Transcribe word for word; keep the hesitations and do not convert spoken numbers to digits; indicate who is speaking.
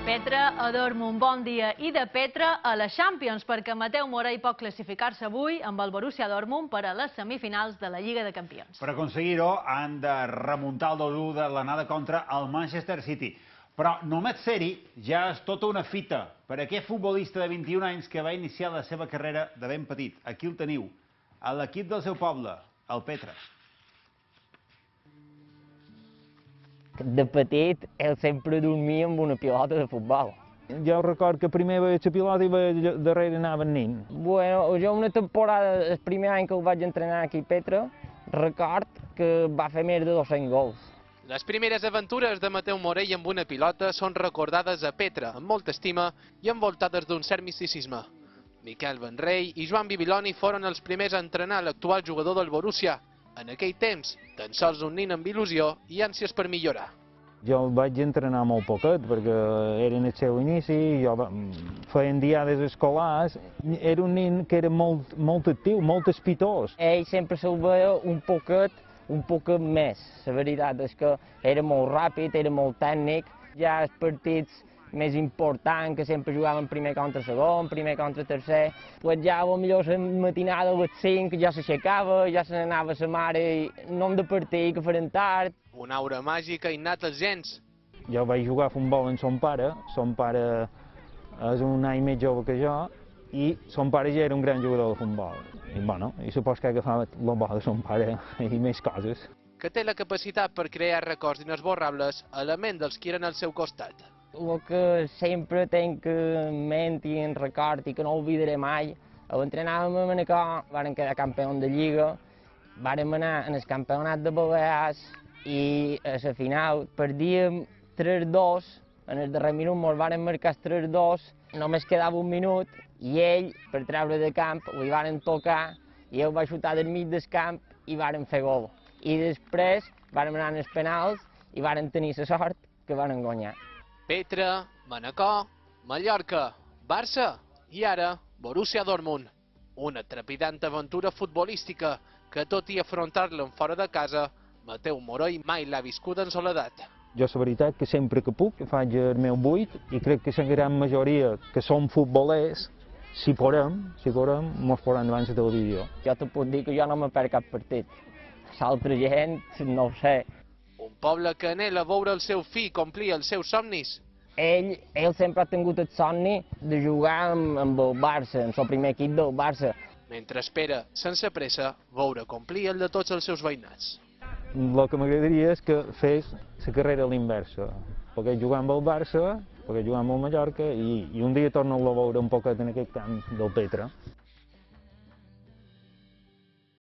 Speaker 1: Petra, adormo un bon dia i de Petra a la Champions, perquè Mateu Morey pot classificar-se avui amb el Borussia Dortmund per a les semifinals de la Lliga de Campions.
Speaker 2: Per aconseguir-ho han de remuntar el dos a u de l'anada contra el Manchester City. Però només ser-hi ja és tota una fita per a aquest futbolista de vint-i-un anys que va iniciar la seva carrera de ben petit. Aquí el teniu, a l'equip del seu poble, el Petra.
Speaker 3: De petit, ell sempre dormia amb una pilota de futbol.
Speaker 4: Jo record que primer veia la pilota i veia darrere anava el nin.
Speaker 3: Bueno, jo una temporada, el primer any que el vaig entrenar aquí a Petra, record que va fer més de dos-cents gols.
Speaker 5: Les primeres aventures de Mateu Morey amb una pilota són recordades a Petra amb molta estima i envoltades d'un cert misticisme. Miquel Benrey i Joan Bibiloni foren els primers a entrenar l'actual jugador del Borussia. En aquell temps, tan sols un nin amb il·lusió i ànsies per millorar.
Speaker 4: Jo el vaig entrenar molt poquet, perquè era en el seu inici, jo feien diades escolars, era un nin que era molt, molt actiu, molt espitós.
Speaker 3: Ell sempre se'l veia un poquet, un poquet més. La veritat és que era molt ràpid, era molt tècnic, ja els partits més important, que sempre jugaven primer contra segon, primer contra tercer, pues ja potser la matinada a les cinc ja s'aixecava, ja se n'anava a sa mare i no hem de partir, que farem tard.
Speaker 5: Una aura màgica innata als gens.
Speaker 4: Jo vaig jugar a futbol amb son pare, son pare és un any més jove que jo, i son pare ja era un gran jugador de futbol. I, bueno, i supos que agafava el bo de son pare i més coses.
Speaker 5: Que té la capacitat per crear records inesborrables a la ment dels qui eren al seu costat.
Speaker 3: El que sempre tinc en ment i en record i que no oblidaré mai, l'entrenàvem a Manacor, vàrem quedar campions de Lliga, vàrem anar en el campionat de Balears i a la final perdíem tres dos, en el darrer minut ens varen marcar tres dos, només quedava un minut i ell, per treure de camp, li varen tocar i ell va xutar del mig del camp i varen fer gol. I després vàrem anar als penals i varen tenir la sort que varen guanyar.
Speaker 5: Petra, Manacor, Mallorca, Barça i ara Borussia Dortmund. Una trepidant aventura futbolística que, tot i afrontar-la en fora de casa, Mateu Morey mai l'ha viscuda en soledat.
Speaker 4: Jo, la veritat, que sempre que puc faig el meu buit i crec que la gran majoria que som futbolers, si podem, si podem, mos posaran davant la televisió.
Speaker 3: Jo te puc dir que jo no me perd cap partit. L'altra gent, no ho sé.
Speaker 5: Un poble que anhela veure el seu fill complir els seus somnis.
Speaker 3: Ell, ell sempre ha tingut el somni de jugar amb, amb el Barça, amb el primer equip del Barça.
Speaker 5: Mentre espera, sense pressa, veure complir el de tots els seus veïnats.
Speaker 4: El que m'agradaria és que fes la carrera a l'inversa. Perquè jugar amb el Barça, perquè jugar amb el Mallorca i, i un dia torno a veure un poquet en aquest camp del Petra.